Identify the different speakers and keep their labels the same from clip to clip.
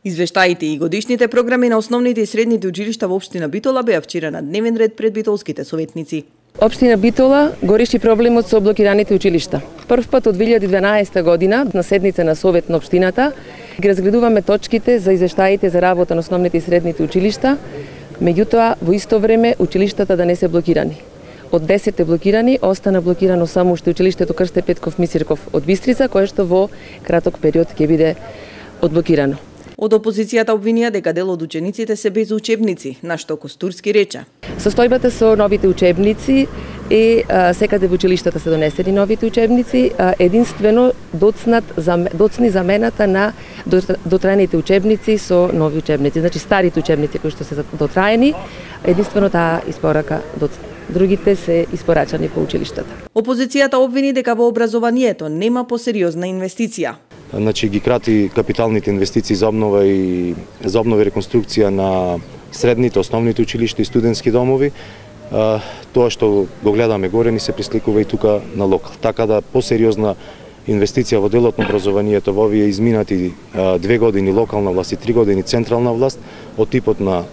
Speaker 1: Извештаите и годишните програми на основните и средните училишта во општина Битола беа вчера на дневен ред пред битолските советници.
Speaker 2: Општина Битола го реши проблемот со блокираните училишта. Прв пат од 2012 година на седница на совет на општината ги разгледуваме точките за извештаите за работа на основните и средните училишта, меѓутоа во исто време училиштата да не се блокирани. Од 10 блокирани, остана блокирано само уште училиштето Крсте Петков Мисирков од Бистрица, кое што во краток период ќе биде одблокирано.
Speaker 1: Од опозицијата обвинија дека дел од учениците се без учебници, на што Костурски рече:
Speaker 2: Состојбата со новите учебници е секаде во училиштата се донесени новите учебници, единствено доцни замената на дотраените учебници со нови учебници. Значи старите учебници кои што се дотраени, единствено таа испорака доцна. Другите се испорачани по училиштата.
Speaker 1: Опозицијата обвини дека во образованието нема посериозна инвестиција.
Speaker 3: Значи ги крати капиталните инвестиции за обнова и реконструкција на средните, основните училишта и студентски домови. Тоа што го гледаме горе ни се присликува и тука на локал. Така да посериозна инвестиција во делот на образованието во овие изминати 2 години локална власт и 3 години централна власт, од типот на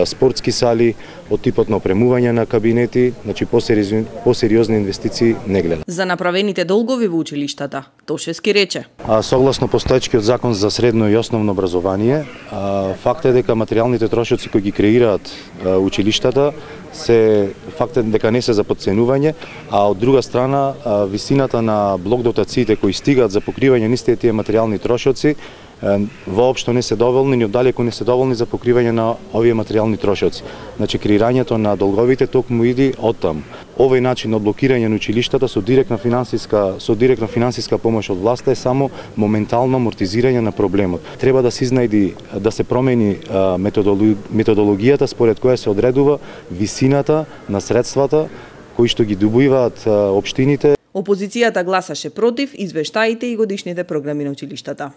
Speaker 3: спортски сали, од типот на опремување на кабинети, значи посериозни инвестиции не гледа.
Speaker 1: За направените долгови во училиштата, Тошевски рече:
Speaker 3: Согласно постоечкиот закон за средно и основно образование, факт е дека материјалните трошоци кои ги креираат училиштата факт е дека не се за подценување, а од друга страна висината на блок дотациите кои стигаат за покривање на истите тие материјални трошоци воопшто не се доволни, ни оддалеку не се доволни за покривање на овие материјални трошоци. Значи креирањето на долговите токму иди оттам. Овој начин на блокирање на училиштата со директна финансиска помош од власта е само моментално амортизирање на проблемот. Треба да се изнајди, да се промени методологијата според која се одредува висината на средствата кои што ги добиваат општините.
Speaker 1: Опозицијата гласаше против извештаите и годишните програми на училиштата.